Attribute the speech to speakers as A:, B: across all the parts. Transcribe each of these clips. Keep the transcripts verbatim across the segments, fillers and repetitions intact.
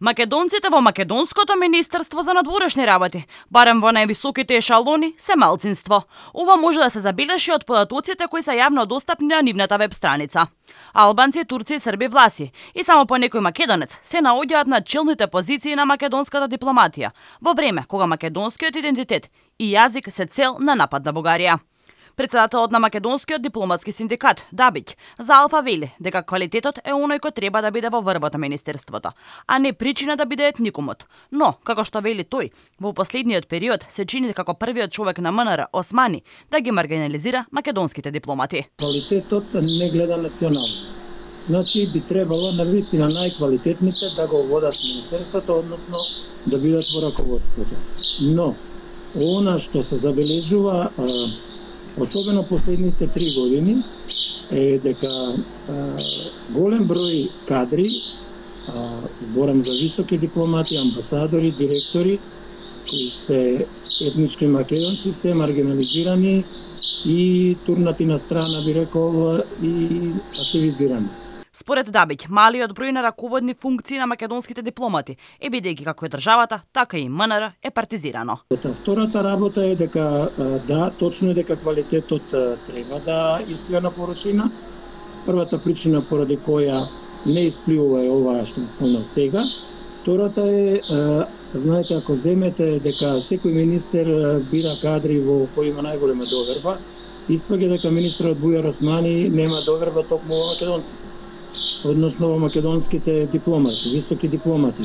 A: Македонците во Македонското министерство за надворешни работи, барем во највисоките ешалони, се малцинство. Ова може да се забележи од податоците кои се јавно достапни на нивната веб страница. Албанци, турци и срби власи и само по некој македонец се наоѓаат на челните позиции на македонската дипломатија, во време кога македонскиот идентитет и јазик се цел на напад на Бугарија. Председателот на Македонскиот дипломатски синдикат, Дабиќ, за Алфа вели дека квалитетот е оној кој треба да биде во врвот на министерството, а не причина да биде етникумот. Но, како што вели тој, во последниот период се чини како првиот човек на МНР, Османи, да ги маргинализира македонските дипломати.
B: Квалитетот не гледа националност. Значи би требало навистина најквалитетните да го водат министерството, односно да бидат во раководството. Но, она што се забележува, особено последните три години, е дека а, голем број кадри, а, зборам за високи дипломати, амбасадори, директори, кои се етнички македонци, се маргинализирани и турнати на страна, би рекол, и пасивизирани.
A: Според Дабиќ, малиот број на раководни функции на македонските дипломати е бидејќи како е државата, така и МНР е партизирано.
B: Втората работа е дека да, точно е дека квалитетот треба да исплива на порочина. Првата причина поради која не испливува е ова што спомнав сега. Втората е, знаете, ако земете дека секој министер бира кадри во кои има најголема доверба, испаѓа дека министерот Бујар Османи нема доверба токму во македонците, односно во македонските дипломати, високи дипломати.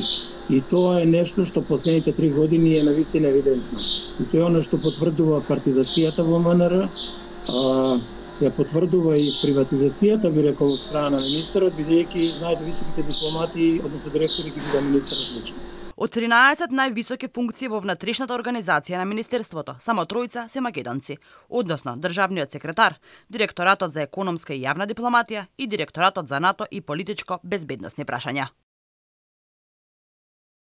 B: И тоа е нешто што последните три години е навистина евидентно. И тоа е оно што потврдува партизацијата во МНР, а, ја потврдува и приватизацијата, би рекол, од страна на министерот, бидејќи знаете високите дипломати, односно директори ги биде министерот лично.
A: Од тринаесет највисоки функции во внатрешната организација на министерството, само тројца се македонци, односно државниот секретар, директоратот за економска и јавна дипломатија и директоратот за НАТО и политичко безбедносни прашања.